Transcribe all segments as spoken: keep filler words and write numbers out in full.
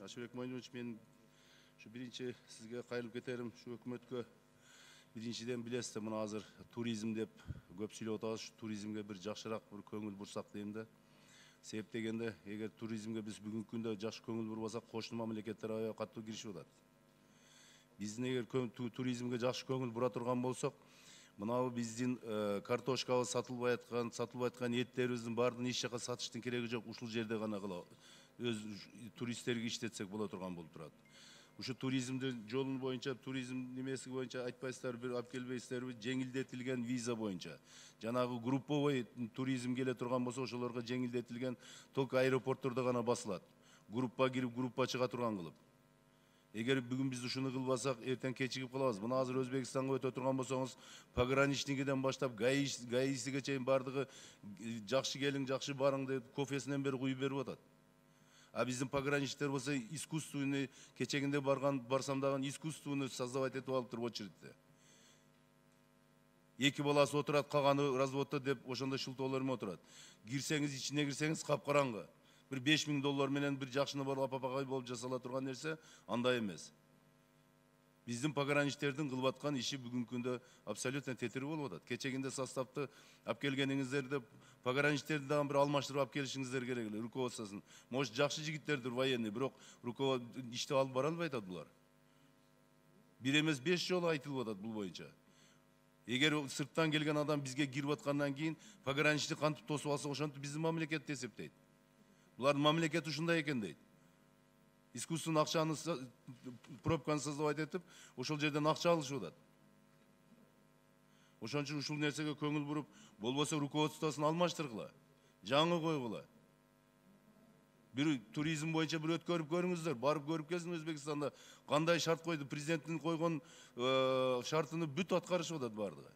Ашыбек Мойнович, мен şu birinci sizge kayılıp keterim, şu өкмөткө биринчиден билесиз, мына азыр туризм деп көп сүйлөп атабыз, şu туризмге бир жакшыраак бир көңүл бурсак дейм да. Себеп дегенде, эгер туризмге биз бүгүнкү күндө жакшы көңүл бурбасак, кошуна мамлекеттер аябай катуу киришип атат. Биздин эгер туризмге жакшы көңүл бура турган болсок, мынау биздин картошкабыз сатылбай аткан, сатылбай аткан эттерибиздин баардыгын эч жака сатыштын кереги жок, ушул жерде гана кыла өз туристтерге иштетсек боло турган болуп турат. Ушу туризмдин жолу боюнча, туризм немеси боюнча айтпайсыздарбы, бир алып келбейсиздерби, жеңилдетилген виза боюнча. Жанагы групповой туризм келе турган болсо, ошолорго жеңилдетилген только аэропорттордо гана басылат. Группа кирип, группа чыга турган кылып. Эгер бүгүн биз ушуну кылбасак, эртең кечигип калабыз. Мына азыр Өзбекстанга өтө турган болсоңуз, пограничнигиден баштап гаисиге чейин бардыгы жакшы келиң, жакшы барың деп кофесинен бери куюп берип атат. А биздин пограничниктер болсо искусственный, кечегинде барган барсам дагы искусственный создавать этип алыптыр очередьте. Эки баласы отурат, калганы разводто деп ошондой шылтоолор менен отурат. Кирсеңиз, ичине кирсеңиз капкараңгы. Bir beş bin dolar менен bir жакшыны барып апапагай болуп жасала турган нерсе андай эмес. Биздин пограничтердин кылып аткан иши бүгүнкү күндө абсолютно тетири болуп атат. Кечегинде составты алып келгениңиздерде пограничтерди дагы бир алмаштырып алып келишиңиздер керек эле, руководствосын. Может, жакшы жигиттердир военный, бирок руководство ишти алып бара албай атат булар. Бир эмес беш жолу айтылып атат бул боюнча. Эгер сырттан келген адам бизге кирип аткандан кийин пограничник кантип тосуп алса, ошентип биздин мамлекетти эсептейт. Булардын мамлекети ушундай экен дейт. Искусственный акчаны пробканы создавать этип, ошол жерден акча алышып атат. Ошон үчүн ушул нерсеге көңүл буруп, болбосо руководствосын алмаштыргыла, жаңы койгула. Бир туризм боюнча бир өткөрүп көрүңүздөр, барып көрүп келсин Өзбекстанда кандай шарт койду, президенттин койгон шартыны бүт аткарышып атат бардыгы.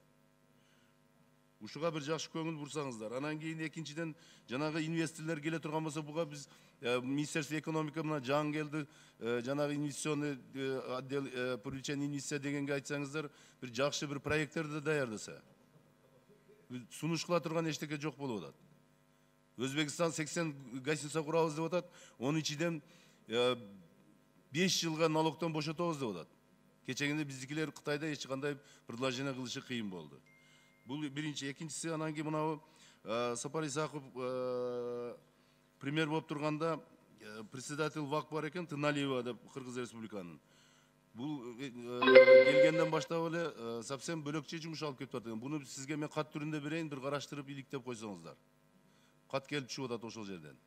Ушуга бир жакшы көңүл бурсаңыздар. Анан кийин экинчиден жанагы инвесторлор келе турган болсо, буга биз Министерство экономика мына жаңы келди, жанагы инвестиционный отдел привлечения инвестиций дегенге айтсаңыздар, бир жакшы бир проекттерди даярдаса. Сунуш кыла турган эчтеке жок болуп атат. Өзбекстан сексен гостиница курабыз деп атат, онун ичинен беш жылга налогтон бошотобуз деп атат. Кечегинде биздикилер Кытайда эч кандай предложение кылышы кыйын болду. Бул биринчи, экинчиси, анан кийин мынау Сапар Исаков премьер болуп турганда председатель ВАК бар экен, Тыналиева деп, Кыргыз Республиканын. Бул келгенден баштап эле совсем бөлөкчө жумуш алып кетип атат. Буну сизге мен кат түрүндө берейин, бир караштырып иликтеп койсоңуздар. Кат келип түшүп атат ошол жерден.